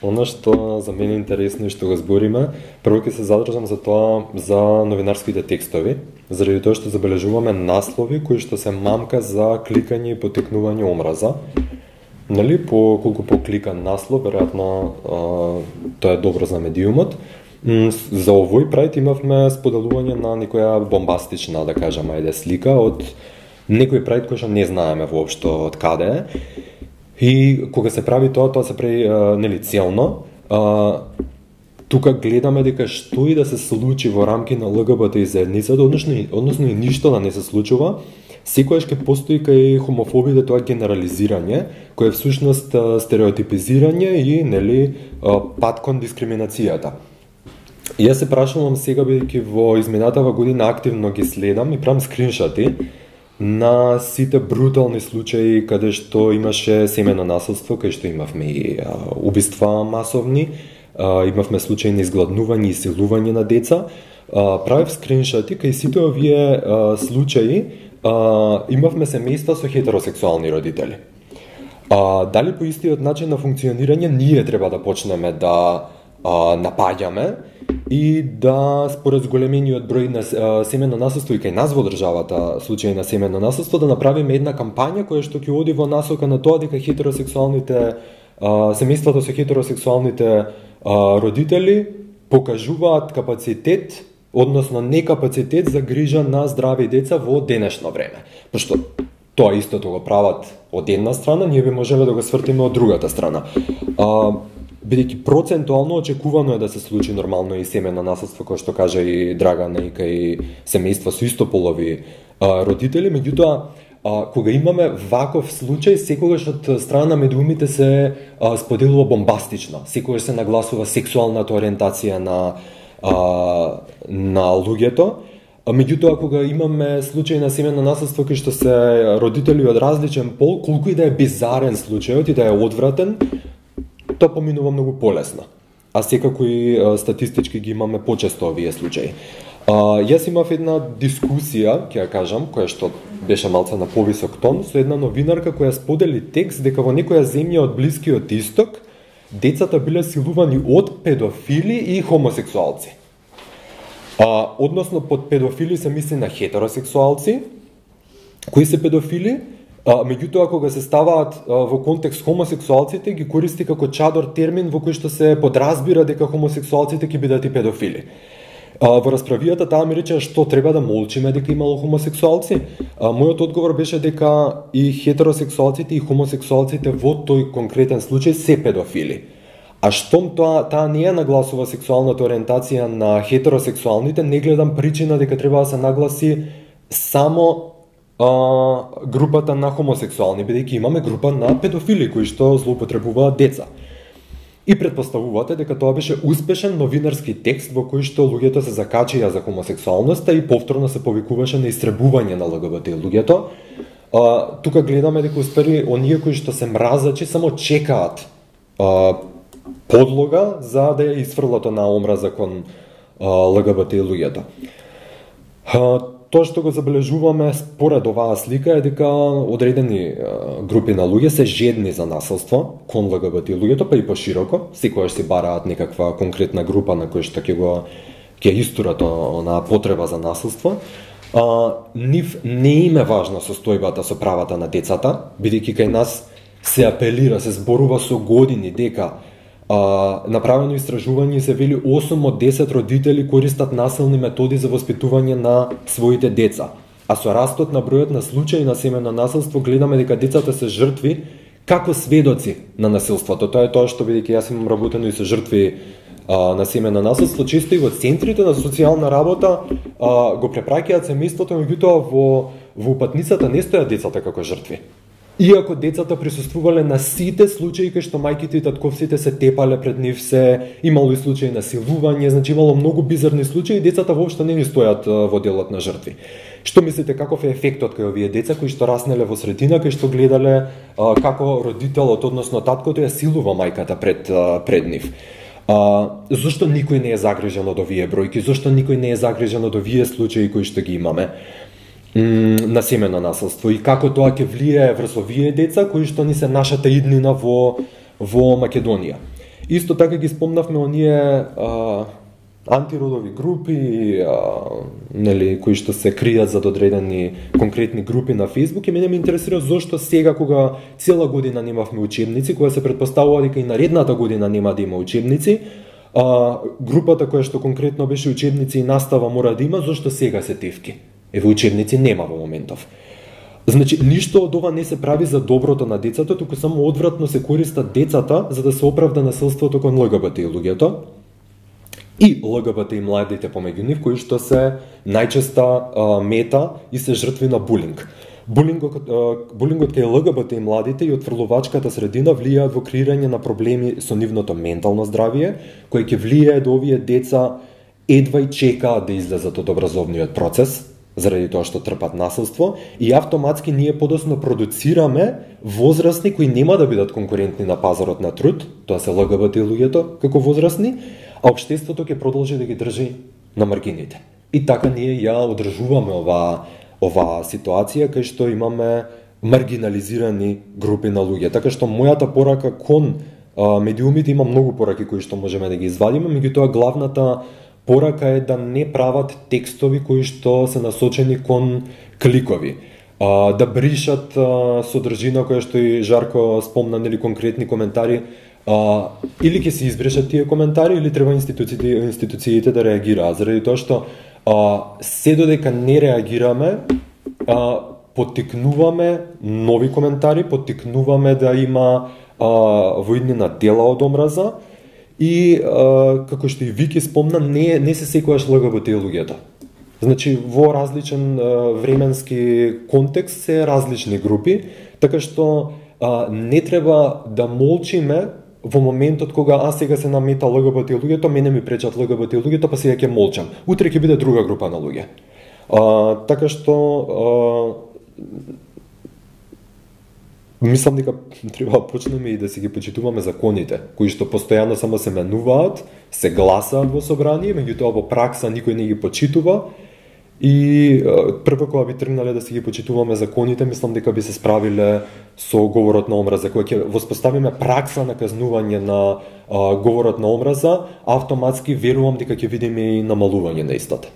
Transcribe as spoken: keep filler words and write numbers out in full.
Оно што за мене е интересно и што го збориме, прво ќе се задржам за тоа за новинарските текстови, заради тоа што забележуваме наслови кои што се мамка за кликање и потекнување омраза. Нели, по колку покликан наслов, веројатно тоа е добро за медиумот. За овој прајд имавме споделување на некоја бомбастична, да кажам, ајде слика од некој прајд кој што не знаеме воопшто од каде е. И кога се прави тоа, тоа се прави нели целно. А, тука гледаме дека што и да се случи во рамки на Л Г Б Т заедницата, односно, односно и ништо да не се случува, секојаш ќе постои кај хомофобите тоа генерализирање, кое е всушност стереотипизирање и нели пат кон дискриминацијата. И јас се прашувам сега, бидејќи во изминатава година активно ги следам и правам скриншоти на сите брутални случаи каде што имаше семено насилство, кај што имавме и а, убиства масовни, а, имавме случаи на изгладнување и силување на деца. А, правев скриншоти кај сите овие а, случаи а, имавме семејства со хетеросексуални родители. А, дали по истиот начин на функционирање ние треба да почнеме да а, напаѓаме и да според зголемениот број на семено насилство и кај нас во државата случаи на семено насилство да направиме една кампања која што ќе оди во насока на тоа дека хетеросексуалните семејствата со хетеросексуалните родители покажуваат капацитет, односно некапацитет за грижа на здрави деца во денешно време. Пошто тоа истото го прават од една страна, ние би можеле да го свртиме од другата страна. Бидејќи процентуално очекувано е да се случи нормално и семено насилство, кој што кажа и Драгана, и кај семејства со истополови а, родители, меѓутоа а, кога имаме ваков случај, секогаш од страна на медиумите се а, споделува бомбастично, секогаш се нагласува сексуалната ориентација на а, на луѓето. Меѓутоа, кога имаме случај на семено насилство кај што се родители од различен пол, колку и да е бизарен случајот и да е одвратен, тоа поминува многу полесно. А секако и а, статистички ги имаме почесто овие случаи. А, јас имав една дискусија, ќе ја кажам, која што беше малце на повисок тон, со една новинарка која сподели текст дека во некоја земја од Блискиот Исток децата биле силувани од педофили и хомосексуалци. А, односно под педофили се мисли на хетеросексуалци. Кои се педофили? А, меѓутоа, кога се ставаат а, во контекст хомосексуалците, ги користи како чадор термин во кој што се подразбира дека хомосексуалците ќе бидат и педофили. А, во расправијата таа ми рече што треба да молчиме дека имало хомосексуалци. А, мојот одговор беше дека и хетеросексуалците и хомосексуалците во тој конкретен случај се педофили. А штом тоа таа не ја нагласува сексуалната ориентација на хетеросексуалните, не гледам причина дека треба да се нагласи само Uh, групата на хомосексуални, бидејќи имаме група на педофили кои што злоупотребуваат деца. И предпоставувате дека тоа беше успешен новинарски текст во кој што луѓето се закачија за хомосексуалноста и повторно се повикуваше на истребување на Л Г Б Т луѓето. Uh, тука гледаме дека успери оние кои што се мразачи само чекаат uh, подлога за да ја исфрлат на омраза кон uh, Л Г Б Т луѓето. Uh, Тоа што го забележуваме според оваа слика е дека одредени групи на луѓе се жедни за насилство кон Л Г Б Т луѓето, па и пошироко, секогаш си бараат некаква конкретна група на која што ќе го ќе истурат на потреба за насилство. А, нив не им е важна состојбата со правата на децата, бидејќи кај нас се апелира, се зборува со години дека Uh, направено истражување се вели осум од десет родители користат насилни методи за воспитување на своите деца. А со растот на бројот на случаи на семено насилство гледаме дека децата се жртви како сведоци на насилството. Тоа е тоа што, бидејќи јас имам работено и со жртви uh, на семено насилство, често и во центрите на социјална работа uh, го препраќаат семејството, меѓутоа во во упатницата не стојат децата како жртви. Иако децата присуствувале на сите случаи кај што мајките и татковците се тепале пред нив, се имало и случаи на силување, значи имало многу бизарни случаи, децата воопшто не ни стојат во делот на жртви. Што мислите каков е ефектот кај овие деца кои што раснеле во средина, кај што гледале а, како родителот, односно таткото ја силува мајката пред а, пред нив? А, зошто никој не е загрижен од овие бројки? Зошто никој не е загрижен од овие случаи кои што ги имаме на семено насилство и како тоа ќе влијае врз овие деца кои што ни се нашата иднина во во Македонија. Исто така ги спомнавме оние а, антиродови групи, а, нели, кои што се кријат за одредени конкретни групи на Facebook, и мене ме интересира зошто сега, кога цела година немавме учебници, кога се предпоставува дека и наредната година нема да има учебници, а, групата која што конкретно беше учебници и настава мора да има, зошто сега се тефки? Еве, учебници нема во моментов. Значи, ништо од ова не се прави за доброто на децата, туку само одвратно се користат децата за да се оправда насилството кон ЛГБТ и луѓето и ЛГБТ и младите помеѓу нив, кои што се најчеста а, мета и се жртви на булинг. Булингот, а, булингот кај ЛГБТ и младите и отфрлувачката средина влијаат во креирање на проблеми со нивното ментално здравје, кои ќе влијае да овие деца едва и чекаат да излезат од образовниот процес, заради тоа што трпат насилство, и автоматски ние подоцна продуцираме возрастни кои нема да бидат конкурентни на пазарот на труд, тоа се ЛГБТ и луѓето како возрастни, а општеството ќе продолжи да ги држи на маргините. И така ние ја одржуваме ова ова ситуација кај што имаме маргинализирани групи на луѓе. Така што мојата порака кон а, медиумите, има многу пораки кои што можеме да ги извадиме, меѓутоа главната порака е да не прават текстови кои што се насочени кон кликови, а, да бришат а, содржина која што и Жарко спомна, нели, конкретни коментари, а, или ќе се избрешат тие коментари, или треба институциите, институциите да реагираат, заради тоа што а, се додека не реагираме, а, поттикнуваме нови коментари, поттикнуваме да има а, воиднина дела од омраза. И, а, како што и Вики спомна, не, не се секогаш ЛГБТ и луѓето. Значи, во различен а, временски контекст се различни групи, така што а, не треба да молчиме во моментот кога аз сега се намета ЛГБТ и луѓето, мене ми пречат ЛГБТ и луѓето, па сега ќе молчам. Утре ќе биде друга група на луѓе. А, така што а, мислам дека треба да почнеме и да си ги почитуваме законите, кои што постојано само се менуваат, се гласаат во собрание, меѓутоа во пракса никој не ги почитува. И прво кога би тргнале да си ги почитуваме законите, мислам дека би се справиле со говорот на омраза. Кога ќе воспоставиме пракса на казнување на а, говорот на омраза, автоматски верувам дека ќе видиме и намалување на истата.